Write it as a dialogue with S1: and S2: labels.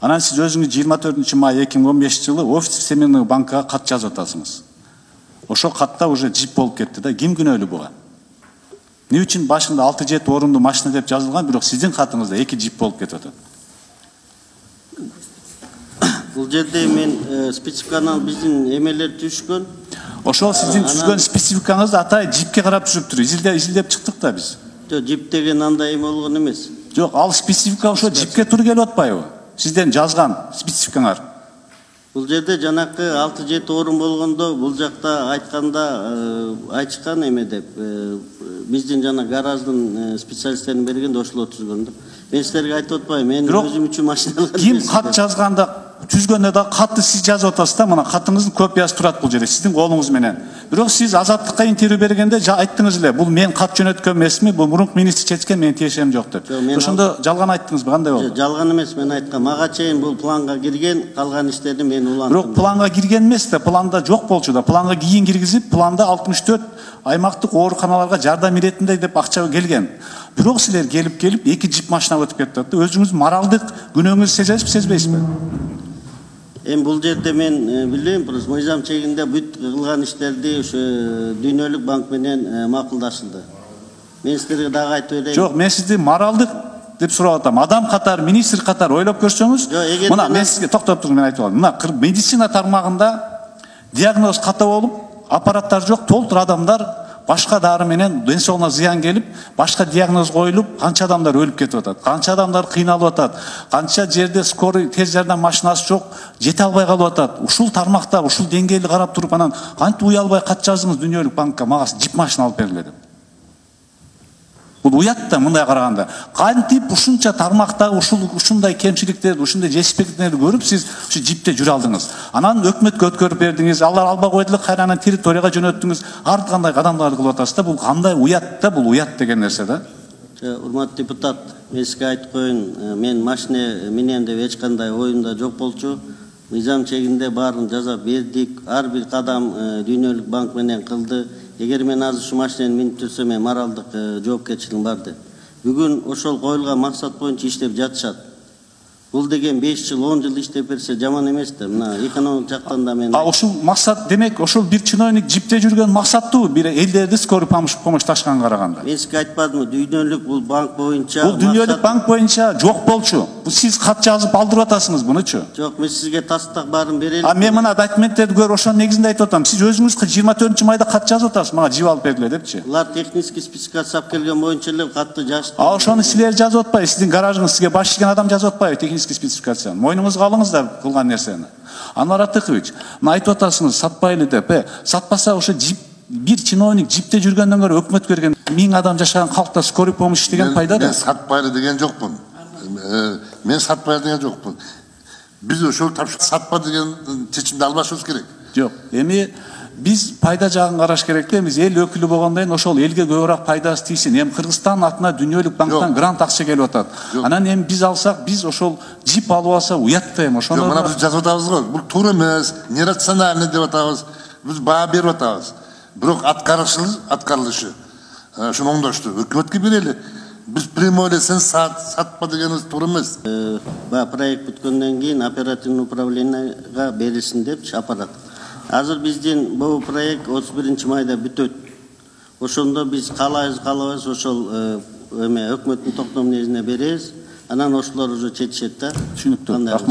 S1: Анан сиз өзүңүз 24 май 2015 жылы офис Всемирный банкка кат жазып атасыңыз. Ошол катта уже жип болуп кетти да. Ким күнөөлүү буга? Эмне үчүн башында 6-7 орундуу машина деп жазылган, бирок сиздин катыңызда 2 жип болуп кетип атат?
S2: Бул жерде мен спецификаны биздин эмелер түшкөн.
S1: Ошол сиздин түзгөн спецификаңызды атай жипке карап түзүптүр. Изилдеп чыктык да биз.
S2: Жок, жип деген андай эме болгон эмес.
S1: Жок, ал специфика ошо жипке тур келип атпайбы? Сизден жазган спецификаңар.
S2: Бул жерде жанакы 6-7 орун болгондо бул жакта айтышкан эме деп биздин жана гараждын специалисттерин бергенде ошолор түзгөн да. Мен силерге айтып атпайм, мен өзүм үчүн машина алган.
S1: Ким кат жазганда түзгөндө да катты сиз жазып атасыз да, мына катыңыздын копиясы турат бул жерде сиздин колуңуз менен. Бирок сиз Азаттыкка интервью бергенде айттыңыз эле, бул мен кат жөнөткөн эмесми, бул мурунку министр чечкен, менин тиешем жок деп. Ошондо жалган айттыңызбы, кандай болду?
S2: Жалган эмес, мен айткам, мага чейин бул планга кирген, калган иштерди мен улантым.
S1: Бирок планга кирген эмес да, планда жок болчу да. Планга кийин киргизип, планда 64 аймактык ооруканаларга жардам иретинде деп акча келген. Бирок силер келип 2 жип машина өтүп кетти да. Өзүңүз моралдык күнөөңүздү сезесизби, сезбейсизби?
S2: Бул жерде мен билбейм, просто мыйзам чегинде бүт кылган иштерди ошо Дүйнөлүк банк менен макулдашылды. Мен силерге дагы айтып берейин.
S1: Жок, мен сизди моралдык деп сурап атам. Адам катары, министр катары ойлоп көрсөңүз, мына мен сизге токтоп туруп мен айтып алам. Мына медицина тармагында диагноз ката болуп, аппараттар жок, толтур адамдар башка дары менен ден соолугуна зыян келип, башка диагноз коюлуп, канча адамдар өлүп кетип атат, канча адамдар кыйналып атат, канча жерде скорый тез жардам машинасы жок, жете албай калып атат. Ушул тармакта, ушул деңгээлди карап туруп, анан кантип уялбай кат жаздыңыз Дүйнөлүк банкка, мага жип машина алып бергиле деп. Бул уят да мындай караганда. Кантип ушунча тармакта ушундай кемчиликтерди, ушундай жетишпектиктерди көрүп сиз ушу жипте жүрө алдыңыз. Анан өкмөткө өткөрүп бердиңиз, алар албай койду, кайрадан территорияга жөнөттүңүз. Ар кандай кадамдарды кылып атасыз да, бул кандай уят да, бул уят деген нерсе да.
S2: Урматтуу депутат, мен сизге айтып коеюн, мен машина менен деп эч кандай оюмда жок болчу. Мыйзам чегинде баарын жазап бердик. Ар бир кадам Дүйнөлүк банк менен кылды. Эгер мен азыр ушу машинени минип жүрсөм, мен моралдык жоопкерчилигим бар деп. Бүгүн ошол коюлган максат боюнча иштеп жатышат. Бул деген 5 жыл, 10 жыл иштеп берсе жаман эмес да. Мына экономик жактан да мен.
S1: Ошол максат демек, ошол бир чиновник жипте жүргөн максаттуу, бир элдерди скорый помощьташканга караганда.
S2: Мен сизге айтпадымбы, Дүйнөлүк бул банк боюнча.
S1: Бул Дүйнөлүк банк боюнча жок болчу. Бул сиз кат жазып алдырып атасыңыз бунучу.
S2: Жок, мен сизге тастак баарын берелим.
S1: Мен мына документтерди көрүп ошонун негизинде айтып атам. Сиз өзүңүз 24 майда кат жазып атасыз, мага жип алып бергиле депчи.
S2: Булар технический спецификация алып келген боюнча эле катты жазды.
S1: Ошону силер жазып атпайбы? Сиздин гаражыңыз сизге баш ийген адам жазып атпайбы технический спецификацияны? Мойнуңузга алыңыз да кылган нерсени. Анвар Атыкович, мына айтып атасыңыз сатпайлы деп. Сатпаса ошо жип бир чиновник жипте жүргөндөн көрө өкмөт берген 1000 адам жашаган калкта скорый помощь деген пайда да.
S3: Мен сатпайлы деген жокмун. Мен сатпайлы деген жокмун. Биз ошол сатпа деген чечимди албашыбыз керек.
S1: Жок, эми биз пайда жагын караш керек да. Биз эл өкүлү болгондон кийин ошол элге көбүрөөк пайдасы тийсин. Эми Кыргызстан атына Дүйнөлүк банктан грант акча келип атат. Анан эми биз алсак, биз ошол жип алып алса уят да эми ошону.
S3: Мына биз жазып атабыз го. Бул туура эмес, нерациональный деп атабыз. Биз баа берип атабыз. Бирок аткарылышы ошону оңдошту. Өкмөткө берели. Биз прямой эле сен сатпа дегенибиз туура эмес.
S2: Проект бүткөндөн кийин оперативный управленияга берилсин депчи аппарат. Азыр биздин бул проект 31 майда бүтөт. Ошондо биз каалайбыз ошол эме өкмөттүн токтому негизинде беребиз. Анан ошолор уже чечишет да.
S1: Түшүнүктүү. Рахмат.